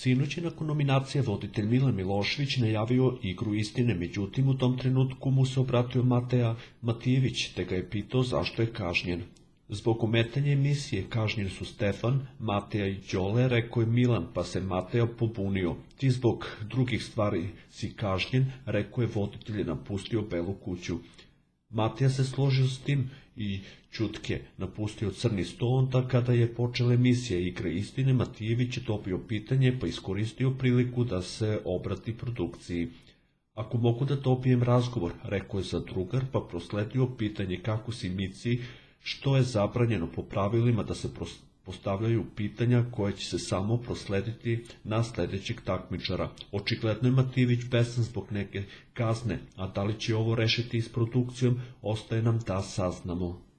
Sinoć je nakon nominacije voditelj Milan Milošević najavio igru istine, međutim u tom trenutku mu se obratio Mateja Matijević te ga je pitao zašto je kažnjen. Zbog ometanja emisije kažnjeni su Stefan, Mateja i Đole, rekao je Milan, pa se Mateja pobunio. Ti zbog drugih stvari si kažnjen, rekao je voditelj i napustio Belu kuću. Mateja se složio s tim i ćutke napustio crni sto. Onda kada je počela emisija Igre istine, Matijević je dobio pitanje pa iskoristio priliku da se obrati produkciji. Ako mogu da dobijem razgovor, rekao je zadrugar, pa prosledio pitanje kako si Mici, što je zabranjeno po pravilima da se postavljaju pitanja koje će se samo proslediti na sledećeg takmičara. Očigledno je Matijević besan zbog neke kazne, a da li će ovo rešiti s produkcijom, ostaje nam da saznamo.